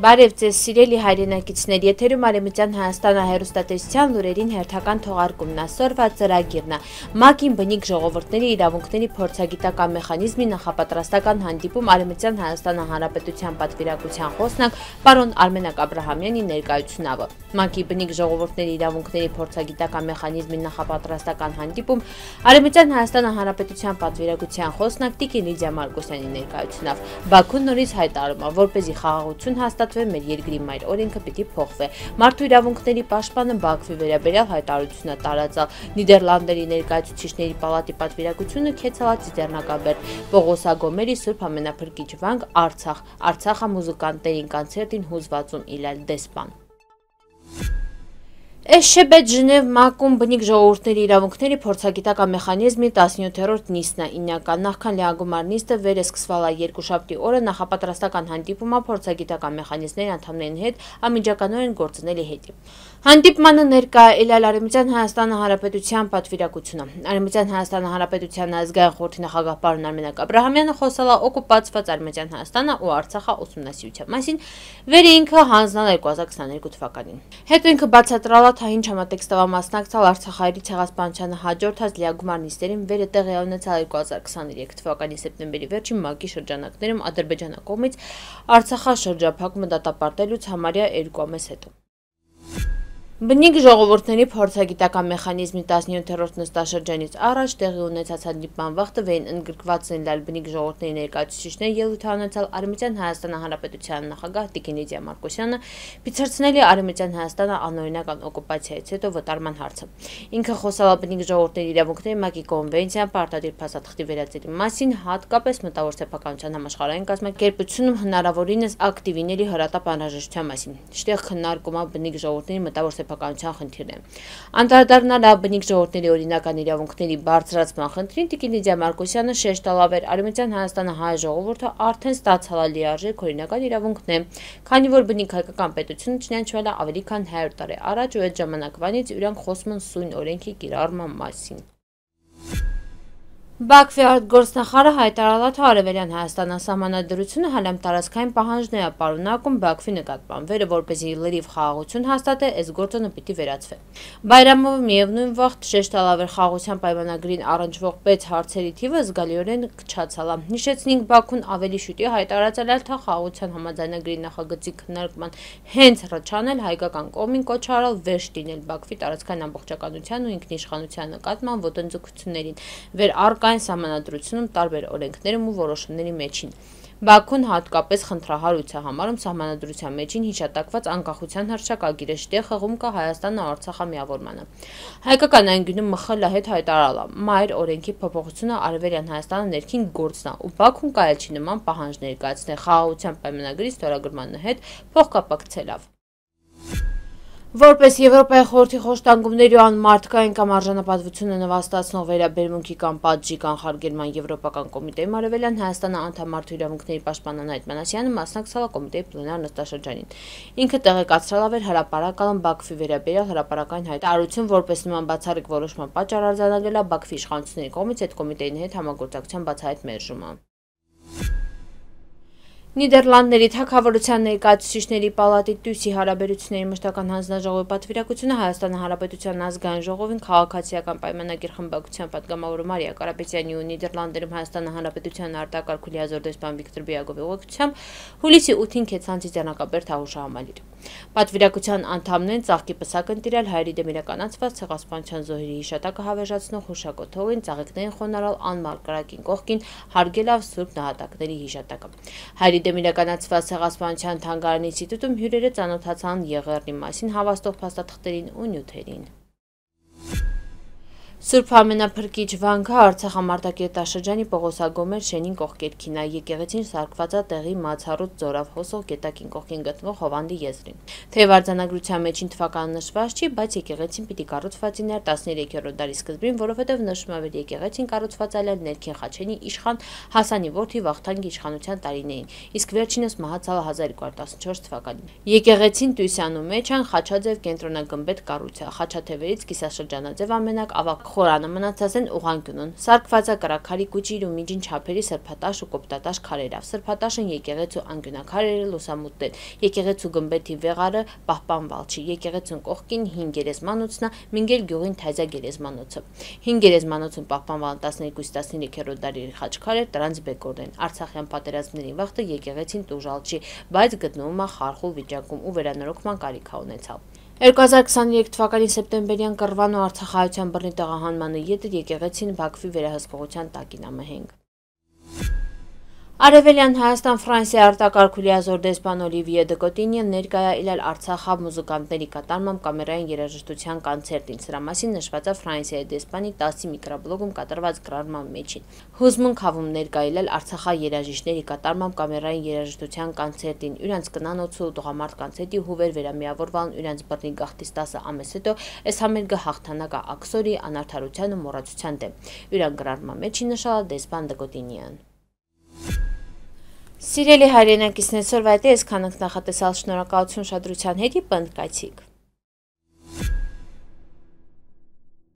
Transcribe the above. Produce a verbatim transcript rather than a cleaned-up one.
Բարև ձեզ սիրելի հայրենակիցներ, եթերում Արևմտյան Հայաստանը հեռուստատեսության լուրերին հերթական թողարկումն այսօրվա ծրագիրն է։ ՄԱԿ-ին բնիկ ժողովուրդների իրավունքների փորձագիտական մեխանիզմի նախապատրաստական հանդիպում Արևմտյան Հայաստանը Հանրապետության պատվիրակության խոսնակ պարոն Արմենակ Աբրահամյանի ներկայությունով։ ՄԱԿ-ի բնիկ ժողովուրդների իրավունքների փորձագիտական մեխանիզմի նախապատրաստական հանդիպում Արևմտյան Հայաստանը Հանրապետության պատվիրակության խոսնակ Տիկին Լիդիա Մարկոսյանի ներկայությունով։ Բաքուն նորից հայտարարում է, որպեսզի խաղաղություն հաստատվի մեր երկրի մայր օրենքը պիտի փոխվի։ Մարդու իրավունքների պաշտպանը Բաքվի վերաբերյալ հայտարարություն է տարածել։ Նիդերլանդների ներկայացուցիչների պալատի պատվիրակությունը քեցալա Ծիծեռնակաբերդ Պողոս Ագոմերի Սուրբ Ամենափրկիչ վանք Արցախ։ Արցախը մուզիկանտերին կոնցերտին հուզվածում իլալ դեսպան։ Էշեբետ Ժնև ՄԱԿ-ում բնիկ ժողովուրդների իրավունքների փորձագիտական մեխանիզմի տասնյոթերորդ նիստն է իննական նախքան լիագումար նիստը վերը սկսվալա երկուշաբթի օրը նախապատրաստական հանդիպումը փորձագիտական մեխանիզմների անդամների հետ անմիջականորեն գործունելի հետի։ Հանդիպմանը ներկա է ելալ Արևմտյան Հայաստանը Հանրապետության պատվիրակությունը։ Արևմտյան Հայաստանը Հանրապետության ազգային խորհրդի նախագահ պարոն Արմենակ Աբրահամյանը խոսել է օկուպացված Արևմտյան Հայաստանը ու Արցախը ուսումնասիրության մասին, վերը ինքը հանձնել երկու հազար քսաներկու թվականին։ Հետո ինքը բացատրել թե ինչ համատեքստով մասնակցել Արցախահայերի ցեղասպանությանը հաջորդած լիագումար նիստերին, վերը տեղի ունեցել երկու հազար քսաներեք թվականի սեպտեմբերի վերջին ՄԱԿ-ի շրջանակներում Ադրբեջանի կողմից Արցախաշրջափակումը դատապարտելուց համարյա երկու ամիս հետո։ Բնիկ ժողովուրդների փորձագիտական մեխանիզմի տասնյոթերորդ նստաշրջանից առաջ տեղի ունեցած հանդիպման վաղտը վեին ընդգրկված են լալ բնիկ ժողովուրդների ներկայացուցիչները ելույթ ունեցել Արևմտյան Հայաստանը Հանրապետության նախագահ Տիկին Լիդիա Մարկոսյանը, բացարձնելի Արևմտյան Հայաստանը անօրինական օկուպացիայից հետո վտարման հարցը։ Ինքը խոսել է բնիկ ժողովուրդների իրավունքների ՄԱԿ-ի կոնվենցիան պարտադիր փաստաթղթի վերածելու մասին, հատկապես մտավոր սեփականության համաշխարհային կազմակերպությունում հնարավորինս ակտիվիների հրատապ անհրաժեշտության մասին։ Շտեղ քննարկում է բնիկ ժողովուրդների մտավոր սեփականության խնդիրն է։ Անդրադառնալ բնիկ ժողովուրդների օրինական իրավունքների բարձրացման խնդրին Տիկին Լիդիա Մարկոսյանը շեշտ տալավ էր Արևմտյան Հայաստանը հայ ժողովուրդը արդեն ստացել է լիարժեք օրինական իրավունքներ, քանի որ բնիկ հայկական պետությունը ճանաչվել է ավելի քան հարյուր տարի առաջ ու այդ ժամանակվանից իրանք խոսում են սույն օրենքի կիրառման մասին։ Բաքվի արտգործնախարարը հայտարարել է, թե Արևելյան Հայաստանի սահմանադրությունը հալամ տարածքային պահանջներ է պարունակում Բաքվի նկատմամբ, վերը որպեսզի լրիվ խաղաղություն հաստատի, այս գործոնը պիտի վերացվի։ Բայրամովը միևնույն վաղտ շեշտ տալավ էր խաղաղության պայմանագրին առնչվող պետ հարցերի թիվը զգալիորեն քչացել է։ Հիշեցնենք, Բաքուն ավելի շուտի հայտարարել էր, թե խաղաղության համաձայնագրի նախագծի քննարկման հենց ռճանել հայկական կողմին կոչ արել վերջ դինել Բաքվի տարածքային ամբողջականության ու ինքնիշխանության նկատմամբ ոտնձգություններին, վեր առկային սահմանադրությունում տարբեր օրենքներում ու որոշումների մեջին։ Բաքուն հատկապես խնդրահարույց է համարում սահմանադրության մեջին հիշատակված անկախության հռչակագիրը, շտեղ խաղում կա Հայաստանը Արցախը միավորմանը։ Հայկական անկյունում ՄԽԼ հետ հայտարարել է, մայր օրենքի փոփոխությունը Արևելյան Հայաստանը ներքին գործն է ու Բաքուն կարել չի նման պահանջ ներկայացնել խաղաղության պայմանագրի ստորագրման հետ փոխկապակցելով։ Որպես Եվրոպայի խորհրդի խոշտանգումների ու անմարդկային կամ արժանապատվությունը նվաստացնող վերաբերմունքի կամ պատժի կանխարգելման Եվրոպական կոմիտեի Արևելյան Հայաստանը անդամ մարդու իրավունքների պաշտպան Անահիտ Մանասյանը մասնակցել է կոմիտեի պլենար նստաշրջանին։ Ինքը տեղեկացրել էր հրապարակալն Բաքվի վերաբերյալ հրապարակային հայտարարություն, որպես նման բացառիկ որոշման պատճառ արձանագրել է Բաքվի իշխանությունների կողմից այդ կոմիտեի հետ համագործակցության բացահայտ մերժումը։ Նիդերլանդների թագավորության ներկայացուցիչների պալատի Տուսի հարաբերությունների մշտական հանձնաժողովի պատվիրակությունը Հայաստանի Հանրապետության ազգային ժողովին քաղաքացիական պայմանագիր խմբակցության պատգամավոր Մարիա Կարապետյանի ու Նիդերլանդերում Հայաստանի Հանրապետության արտակարգ ու լիազոր դեսպան Վիկտոր Բիագովի ուղեկցությամբ հուլիսի ութին քեցան Ծիծեռնակաբերդ հաղորդաշարամալիր։ Պատվիրակության անդամներն ծաղկի պսակ են տիրել հայերի դեմ իրականացված ցեղասպանության զոհերի հիշատակը հավերժացնող հուշակոթողին, ծաղիկներին խոնարհալ անմար կրակին կողքին հարգելով Սուրբ նահատակների հիշատակը։ Հայերի դեմ իրականացված ցեղասպանության թանգարանի ինստիտուտում հյուրերը ծանոթացան եղեռնի մասին հավաստող փաստաթղթերին ու նյութերին։ Սուրբ Ամենափրկիչ վանքը Արցախ ամարտակերտաշրջանի Պողոս Ագոմեր շենին կողքերքին է, եկեղեցին սարքված է տեղի Մացառուց ձորով հոսող գետակին կողքին գտնվող Հովանդի եզրին։ Թեև արձանագրության մեջին թվականը նշված չի, բայց եկեղեցին պիտի կառուցված լիներ տասներեքերորդ դարի սկզբին, որովհետև նշվում է, որ եկեղեցին կառուցված այլ ներքին Խաչենի իշխան Հասանի որդի Վախթանգի իշխանության տարիներին, իսկ վերջինս մահացել հազար երկու հարյուր տասնչորս թվականին։ Եկեղեցին Տուսյանում մեջ են խաչաձև կենտրոնագմբեթ կառույց է, խաչաթևերից կիսաշրջանաձև ամենակ ավագ խորանը մնացած են ուղղանկյունուն, սարքված է կրաքարի կուճիր ու միջին չափերի սրբատաշ ու կոպտատաշ քարերով, սրբատաշն եկեղեցու անկյունաքարերը լուսամուտն են, եկեղեցու գմբեթի վեղարը պահպանված չի, եկեղեցուն կողքին հին գերեզմանոցն է, մինգել գյուղին թայզա գերեզմանոցը, հին գերեզմանոցում պահպանված տասներկու-տասներեք դարերի խաչքարեր դրանց բեկորն են, Արցախյան պատերազմների վաղտը եկեղեցին տուժալ չի, բայց գտնվում է խարխուլ վիճակում ու վերանորոգման կարիք ունեցավ։ երկու հազար քսաներեք թվականի սեպտեմբերյան կռվան ու արցախահայության բռնի տեղահանմանը ետը եկեղեցին Բաքվի վերահսկողության տակին է մհենգ։ Արևելյան Հայաստան-Ֆրանսիա արտակարգ լիազոր դեսպան Օլիվիե Դկոտինյան ներկայ է ելել Արցախի մուզիկանտների կատարմամբ կամերային երաժշտության կոնցերտին, սրա մասին նշված է Ֆրանսիայի դեսպանի տասի միկրոբլոգում կատարված գրառման մեջին։ Հուզմունք հավում ներկայ ելել Արցախի երաժիշտների կատարմամբ կամերային երաժշտության կոնցերտին, իրանց կնանոցու տղամարդ կոնցերտի հուվեր վերամիավորվան իրանց բռնի գաղթից տասը ամիս հետո այս համերգը հաղթանակա աքսորի անարդարության ու մոռացության դեմ։ Իրան գրառման մեջին նշալ է դեսպան Դկոտինյան։ Սիրելի հայրենակիցներ, սորվայտե ես քանանք նախատեսալ շնորհակալություն շադրության հետի պնդկայցիկ։